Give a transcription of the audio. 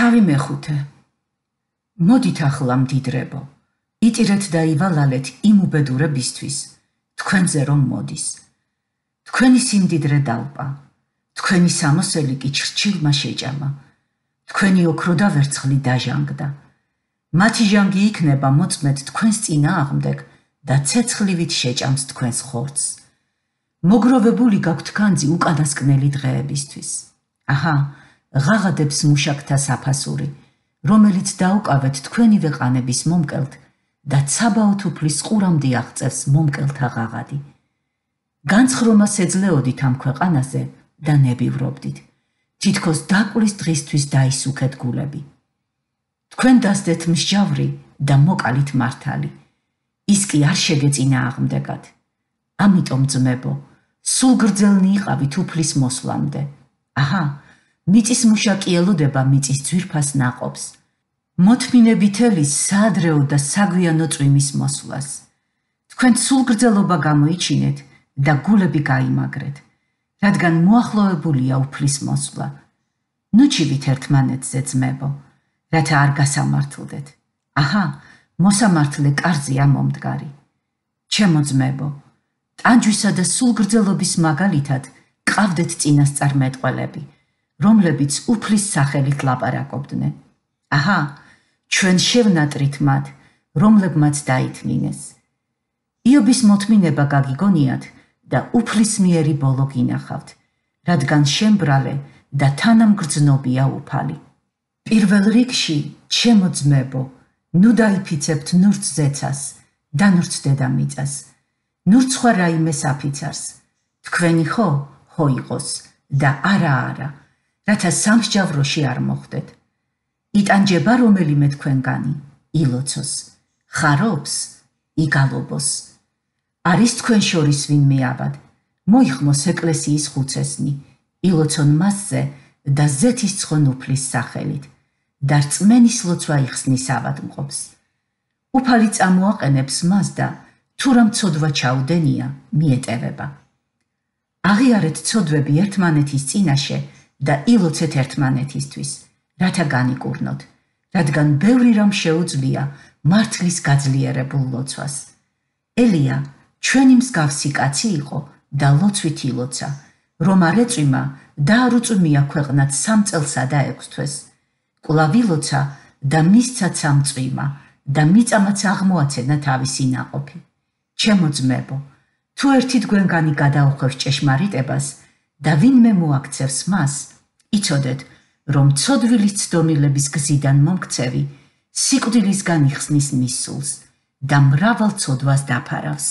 თავი მეხუთე. მოდით ახლა მდიდრებო, იტირეთ და ივალალეთ იმ უბედურებისთვის, თქვენზე რომ მოდის. თქვენი სიმდიდრე დალპა, თქვენი სამოსელი კი ჩრჩილმა შეჭამა, თქვენი ოქრო და ვერცხლი დაჟანგდა. მათი ჟანგი იქნება მოწმედ თქვენს წინააღმდეგ და ცეცხლივით შეჭამს თქვენს ხორცს. მოგროვებული გაქვთ განძი უკანასკნელი დღეებისთვის. აჰა, ღაღადებს მუშაკთა საფასური, რომელიც დაუკავეთ თქვენივე ყანების მომკელთ და ცაბაოთ უფლის ყურამდე აღწევს მომკელთა ღაღადი. განცხრომას ეძლეოდით ამ ქვეყანაზე და ნებივრობდით, თითქოს დაკვლის დღისთვის დაისუქეთ გულები. თქვენ დასდეთ მსჯავრი და მოკალით მართალი, ის კი არ შეგეწინააღმდეგათ. ამიტომ ძმებო, სულ გრძელნი იყავით უფლის მოსვლამდე. აჰა, მიწის მუშაკი ელოდება მიწის ძვირფას ნაყოფს, მოთმინებით ელის საადრეო და საგვიანო წვიმის მოსვლას. თქვენ სულ გრძელობა გამოიჩინეთ და გულები გაიმაგრეთ, რადგან მოახლოებულია უფლის მოსვლა. ნუ ჩივით ერთმანეთზე ძმებო, რათა არ გასამართლდეთ. აჰა, მოსამართლე კარზეა მომდგარი. ჩემო ძმებო, ტანჯვისა და სულგრძელობის მაგალითად ყავდეთ წინასწარმეტყველები, რომლებიც უფლის სახელით ლაპარაკობდნენ. აჰა, ჩვენ შევნატრით მათ, რომლებმაც დაითმინეს. იობის მოთმინება გაგიგონიათ და უფლისმიერი ბოლო გინახავთ, რადგან შემბრალე და თანამგრძნობია უფალი. პირველ რიგში, ჩემო ძმებო, ნუ დაიფიცებთ ნურც ზეცას და ნურც დედამიწას, ნურც სხვა რაიმე საფიცარს, თქვენი ხო იყოს და არა, რათა სამსჯავროში არ მოხვდეთ. იტანჯება რომელიმე თქვენგანი, ილოცოს, ხარობს, იგალობოს. არის თქვენ შორის ვინმე აბად, მოიხმოს ეკლესიის ხუცესნი, ილოცონ მასზე და ზეთისცხონ უფლის სახელით, და რწმენის ლოცვა იხსნის ავადმყოფს. უფალი წამოაყენებს მას და თუ რამ ცოდვა ჩაუდენია, მიეტევება. აღიარეთ ცოდვები ერთმანეთის წინაშე და ილოცეთ ერთმანეთისთვის, რათა განიკურნოთ, რადგან ბევრი რამ შეუძლია მართლის გაძლიერებულ ლოცვას. ელია ჩვენი მსგავსი კაცი იყო და ლოცვით ილოცა, რომ არ ეწვიმა და არ უწვიმია ქვეყნად 3 წელსა და 6 თვეს. კვლავ ილოცა და მისცა სამწვიმა და მიწამაც აღმოაცენა თავისი ნაყოფი. ჩემო ძმებო, თუ ერთი თქვენგანი გადაუხვევს ჭეშმარიტებას და ვინმე მოაქცევს მას, იცოდეთ, რომ ცოდვილის ცდომილების გზიდან მომქცევი სიკვდილისგან იხსნის მის სულს და მრავალ ცოდვას დაფარავს.